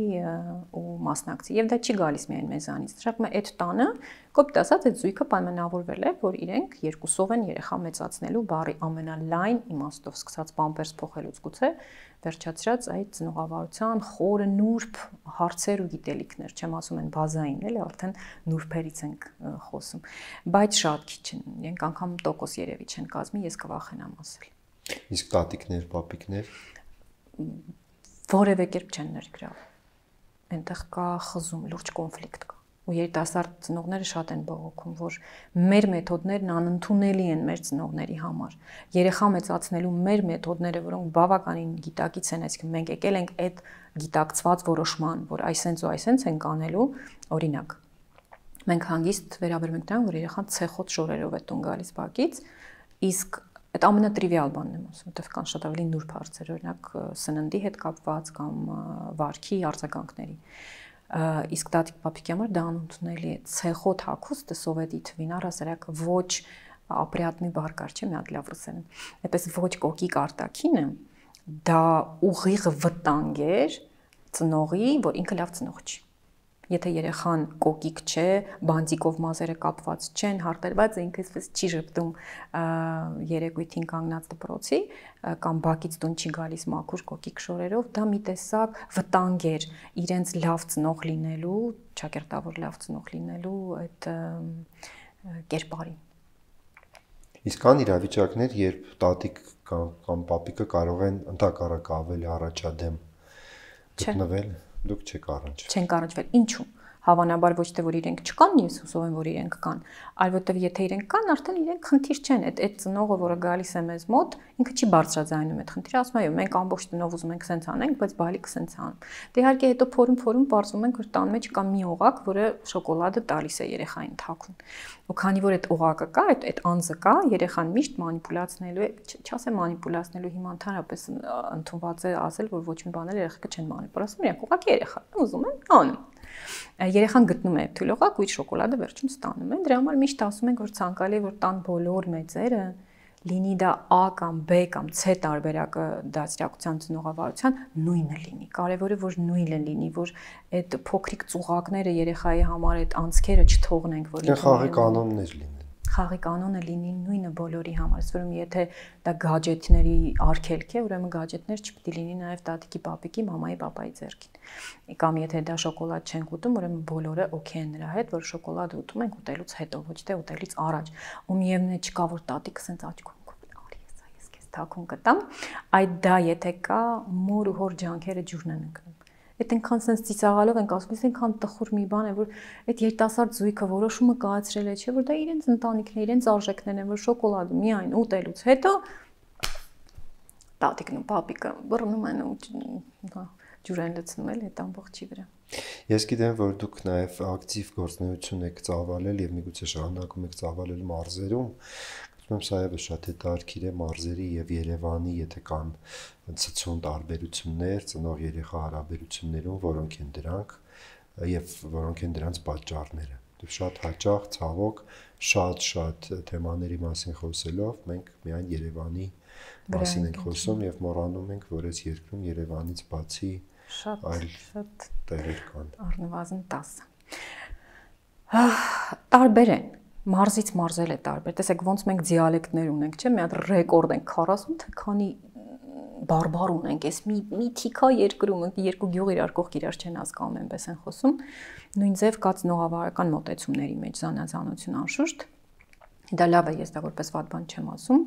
ու մասնակցի։ Եվ դա չի գալիս միայն մեզանից։ Նշանակում է այդ տանը, կոպիտ ասած, այդ զույգը պայմանավորվել է, որ իրենք երկուսով են երեխա մեծացնելու բառի ամենալայն իմաստով, սկսած պամպերս փոխելուց գուցե, վերջացրած այդ ծնողավարության խորը նուրբ հարցեր ու գիտելիքներ, չեմ ասում են բազային, էլի արդեն նուրբերից ենք խոսում, բայց շատ քիչ են, իրենք անգամ տոկոս երևի չեն կազմի, ես կվախենամ ասել։ Իսկ տատիկներ, պապիկներ որևէ կերպ չեն ներգրավում։ Այնտեղ կա խզում, լուրջ կոնֆլիկտ կա։ Ու երիտասարդ ծնողները շատ են բողոքում, որ մեր մեթոդներն անընդունելի են մեր ծնողների համար։ Երեխա մեծացնելու մեր մեթոդները, որոնք բավականին գիտակից են, այսինքն մենք եկել ենք այդ գիտակցված որոշման, որ այսենց ու այսենց ենք անելու, օրինակ։ Մենք հանգիստ վերաբերում ենք նրան, որ երեխան ցեխոտ շորերով է տուն գալիս բակից, իսկ այդ ամենատրիվիալ բանն եմ ասում, որտեղ կան շատ ավելի նուրբ հարցեր, օրինակ սննդի հետ կապված կամ վարքի արձագանքների։ Իսկ տատիկ պապիկի համար դա անընդունելի է։ Ցեխոտ հագուստը սովետի թվին առհասարակ ոչ ապրիատնի բառ կար, չէ՞, մի հատ լավ ռուսերեն։ Այդպես ոչ կոկիկ արտաքինը դա ուղիղ վտանգ էր ծնողի, որ ինքը լավ ծնող չի։ Եթե երեխան կոկիկ չէ, բանտիկով մազերը կապված չեն, հարտերված է ինքնից չի ժպտում երեկույթին կանգնած դպրոցի կամ բակից տուն չի գալիս մաքուր կոկիկ շորերով, դա մի տեսակ վտանգ էր իրենց լավ ծնող լինելու, ճակերտավոր լավ ծնող լինելու այդ կերպարին։ Իսկ կան իրավիճակներ, երբ տատիկ կամ պապիկը կարող են ընդհակառակ ավելի առաջադեմ գտնվել, դուք չեք առնչվել։ Չենք առնչվել։ Ինչու՞։ Հավանաբար ոչ թե որ իրենք չկան, ես հուսով եմ որ իրենք կան, այլ որտեվ եթե իրենք կան, արդեն իրենք խնդիր չեն, այդ ծնողը, որը գալիս է մեզ մոտ, ինքը չի բարձրաձայնում այդ խնդիրը, ասում է, մենք ամբողջ տնով ուզում ենք սենց անենք, բայց բալիկը սենց անում։ Դե իհարկե հետո փորում բարձում ենք, որ տան մեջ կա մի օղակ, որը շոկոլադը տալիս է երեխային թաքուն։ Ու քանի որ այդ օղակը կա, այդ անձը կա, երեխան միշտ մանիպուլացնելու է, չասեմ մանիպուլացնելու, հիմա ընդհանրապես ընդունված է ասել, որ ոչ մի բան էլ երեխաքը չեն մանիպուլացնում, իրենք ուղղակի երեխա ուզում են անում։ Երեխան գտնում է թույլ օղակ ու իր շոկոլադը վերջում ստանում են։ Դրա համար միշտ ասում ենք, որ ցանկալի է որ տան բոլոր մեծերը լինի դա A կամ B կամ C տարբերակը դաստիարակության ծնողավարության նույնը լինի։ Կարևորը որ նույնը լինի, որ այդ փոքրիկ ծուղակները երեխայի համար այդ անցքերը չթողնենք, որ խաղի կանոններ լինեն։ Խաղի կանոնը լինի նույնը բոլորի համար, ասում եթե դա գադջետների արգելք է, ուրեմն գադջետներ չպետք է լինի նաև տատիկի, պապիկի, մամայի, պապայի ձեռքին։ Կամ եթե դա շոկոլադ չենք ուտում, ուրեմն բոլորը օքեյ են նրա հետ, որ շոկոլադը ուտում ենք ուտելուց հետո, ոչ թե ուտելուց առաջ։ Ու միևնույն է չկա որ տատիկը սենց աչքում արի ես քեզ թաքուն կտամ, այդ դա եթե կա, մոր ու հոր ջանքերը ջուրն են ընկնում։ Այդ այնքան sense ծիծաղալով ենք ասում, այնքան տխուր մի բան է, որ այդ երիտասարդ զույգը որոշումը կայացրել է, չէ՞ որ դա իրենց ընտանիքն է, իրենց արժեքներն են, որ շոկոլադը միայն ուտելուց հետո տատիկն ու պապիկը բռնում են ու ջուր են լցնում էլ այդ ամբողջի վրա։ Ես գիտեմ, որ դուք նաև ակտիվ գործունեություն եք ծավալել եւ միգուցե շարունակում եք ծավալել մարզերում։ Ուրեմն սա եւս շատ հետաքրքիր է մարզերի եւ Երևանի, եթե կան ցցուն տարբերություններ, ծնող-երեխա հարաբերություններում, որոնք են դրանք եւ որոնք են դրանց պատճառները։ Դու շատ հաճախ, ցավոք, շատ թեմաների մասին խոսելով մենք միայն Երևանի մասին ենք խոսում եւ մոռանում ենք, որ այս երկրում Երևանից բացի շատ տեղեր կան։ Առնվազն 10։ Տարբեր են։ Մարզից մարզել է տարբեր։ Տեսեք, ոնց մենք դիալեկտներ ունենք, չէ՞, մի հատ ռեկորդ ենք 40, թե քանի բարբար ունենք, այս մի թիքա երկրում, երկու գյուղ իրար կողք իրար չեն հասկանում, այնպես են խոսում։ Նույն ձև կա ծնողավարական մոտեցումների մեջ զանազանություն անշուշտ։ Դա լավ է, ես դա որպես վատ բան չեմ ասում,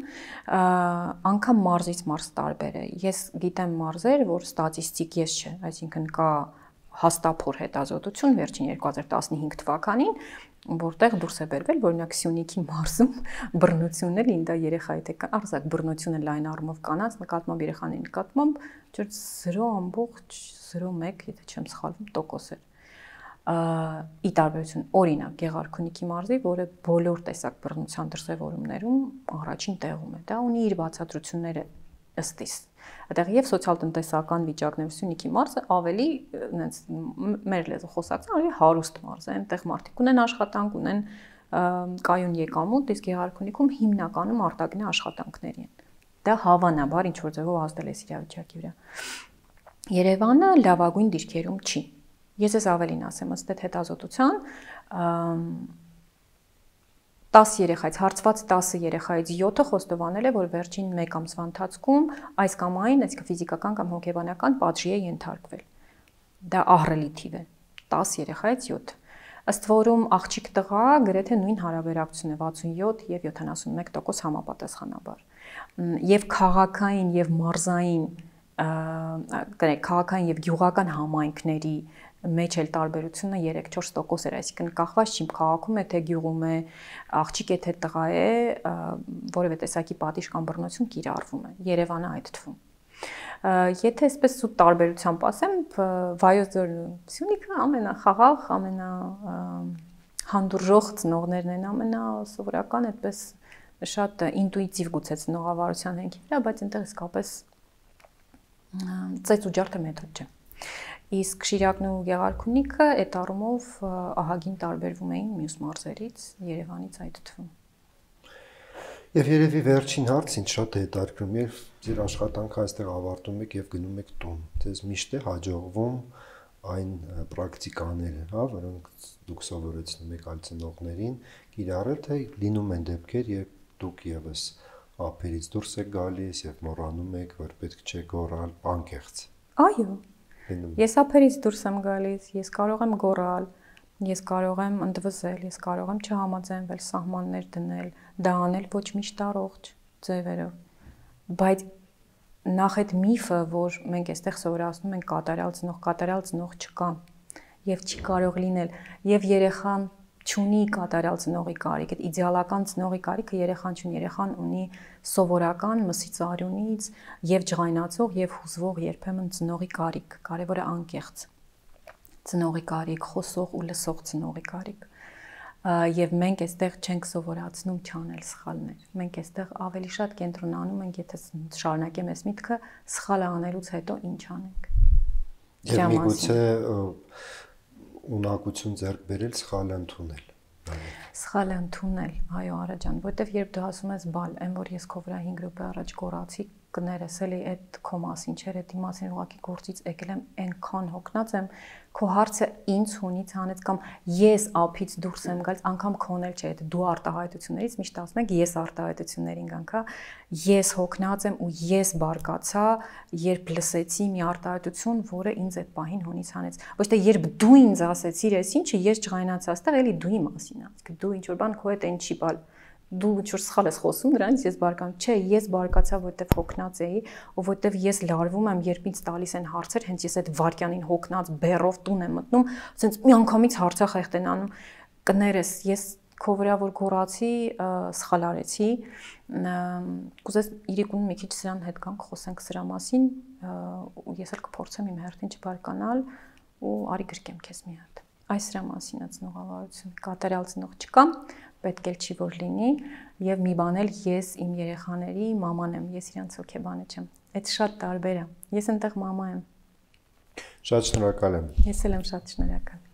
անգամ մարզից մարզ տարբեր է։ Ես գիտեմ մարզեր, որ ստատիստիկ ես չէ, այսինքն կա հաստափոր հետազոտություն վերջին 2015 թվականին, որտեղ դուրս է բերվել, օրինակ Սյունիքի մարզում բռնությունը լինდა երեխայի թե արձակ բռնությունը լայն առումով կանանց նկատմամբ երեխաների նկատմամբ 0.01, եթե չեմ սխալվում, տոկոս էր։ Ի տարբերություն օրինակ Գեղարքունիքի մարզի, որը բոլոր տեսակ բռնության դրսևորումներում առաջին տեղում է, դա ունի իր բացատրությունները ըստ իս։ Այդտեղ եւ սոցիալ-տնտեսական վիճակներով Սյունիքի մարզը ավելի այնց մեր լեզու խոսակցն ավելի հարուստ մարզ է, այնտեղ մարդիկ ունեն աշխատանք, ունեն կայուն եկամուտ, իսկ Գեղարքունիքում հիմնականում արտաքին աշխատանքների են։ Դա հավանաբար ինչ որ ձևով ազդել է իրավիճակի վրա։ Երևանը լավագույն դիրքերում չի։ Ես ավելին ասեմ, ըստ այդ հետազոտության 10 երեխայից հարցված 10 երեխայից 7-ը խոստովանել է, որ վերջին 1 ամսվա ընթացքում այս կամ այն, այսինքն ֆիզիկական կամ հոգեբանական պատժի է ենթարկվել։ Դա ահռելի թիվ է։ 10 երեխայից 7։ Ըստ որում աղջիկ տղա գրեթե նույն հարաբերակցություն է 67 եւ 71% համապատասխանաբար։ Եվ քաղաքային եւ մարզային, քաղաքային եւ գյուղական համայնքների մեջ էլ տարբերությունը 3-4% էր, այսինքն կախված չի քաղաքում է թե գյուղում է, աղջիկ է թե տղա է, որևէ տեսակի պատիժ կամ բռնություն կիրառվում է։ Երևանը այդ թվում։ Եթե այսպես սուտ տարբերությամբ ասեմ, Վայոց ձորն ու Սյունիքը ամենախաղաղ, ամենահանդուրժող ծնողներն են, ամենասովորական, այդպես շատ ինտուիտիվ գուցե ծնողավարության հենքի վրա, բայց այնտեղ իսկապես ծեծ ու ջարդը մեթոդ չէ։ Իսկ Շիրակն ու Գեղարքունիքը այդ առումով ահագին տարբերվում էին մյուս մարզերից, Երևանից այդ թվում։ Եվ երևի վերջին հարց ինձ շատ է հետաքրքրում, երբ ձեր աշխատանքը այստեղ ավարտում եք եւ գնում եք տուն, ձեզ միշտ է հաջողվում այն պրակտիկաները, հա, որոնք դուք սովորեցնում եք այլ ծնողներին, կիրառել, թե լինում են դեպքեր, երբ դուք եւս ափերից դուրս եք գալիս եւ մոռանում եք, որ պետք չէ գոռալ անկեղծ։ Այո։ Ես ափերից դուրս եմ գալիս, ես կարող եմ գոռալ, ես կարող եմ ընդվզել, ես կարող եմ չհամաձայնվել, սահմաններ դնել, դա անել ոչ միշտ առողջ ձևերով։ Բայց նախ այդ միֆը, որ մենք այստեղ սովորացնում ենք կատարյալ ծնող չկա եւ չի կարող լինել, եւ երեխան չունի կատարյալ ծնողի կարիք, այդ իդեալական ծնողի կարիքը երեխան չունի, երեխան ունի սովորական մսից արյունից եւ ջղայնացող եւ հուզվող երբեմն ծնողի կարիք, կարեւորը անկեղծ ծնողի կարիք, խոսող ու լսող ծնողի կարիք։ Եվ մենք այստեղ չենք սովորացնում չանել սխալներ։ Մենք այստեղ ավելի շատ կենտրոնանում ենք, եթե շարունակեմ այս միտքը, սխալը անելուց հետո ինչ անենք։ Եվ միգուցե ունակություն ձեռք բերել սխալը ընդունել։ Սխալը ընդունել, այո, Արա ջան, որտեվ երբ դու ասում ես բալ, այն որ ես քո վրա 5 րոպե առաջ կորացի, կներես էլի այդ քո մասին չէր, այդ իմացին ուղղակի գործից եկել եմ, այնքան հոգնած եմ, քո հարցը ինձ հունից հանեց կամ ես ափից դուրս եմ գալիս, անգամ քոնել չէ, այդ դու արտահայտություններից միշտ ասում ենք ես արտահայտություններին գանք, հա, ես հոգնած եմ ու ես բարկացա, երբ լսեցի մի արտահայտություն, որը ինձ այդ պահին հունից հանեց։ Ոչ թե երբ դու ինձ ասեցիր, այս ինչը ես ջղայնացա, այստեղ էլի դուի մասին է, իսկ դու ինչ որ բան քո հետ այն չի բալ։ Դու ինչ-որ սխալ ես խոսում դրանից ես բարկամ, չէ, ես բարկացա, որտեվ հոգնած էի, ու որտեվ ես լարվում եմ, երբ ինձ տալիս են հարցեր, հենց ես այդ վարքյանին հոգնած բեռով տուն եմ մտնում, ասենց միանգամից հարցախեղտ են անում, կներես, ես քո վրա որ գոռացի, սխալ արեցի, կուզես իրիկուն մի քիչ սրան հետ գանք, խոսենք սրա մասին, ու ես էլ կփորձեմ իմ հերթին չբարկանալ ու արի գրկեմ քեզ մի հատ։ Այս սրա մասին է ծնողավարություն, կատարյալ ծնող չկա, պետք էլ չի որ լինի եւ մի բան էլ ես իմ երեխաների մաման եմ, ես իրանց հոգեբանը չեմ։ Այդ շատ տարբեր է։ Ես այնտեղ մամա եմ։ Շատ շնորհակալ եմ։ Ես էլ եմ շատ շնորհակալ։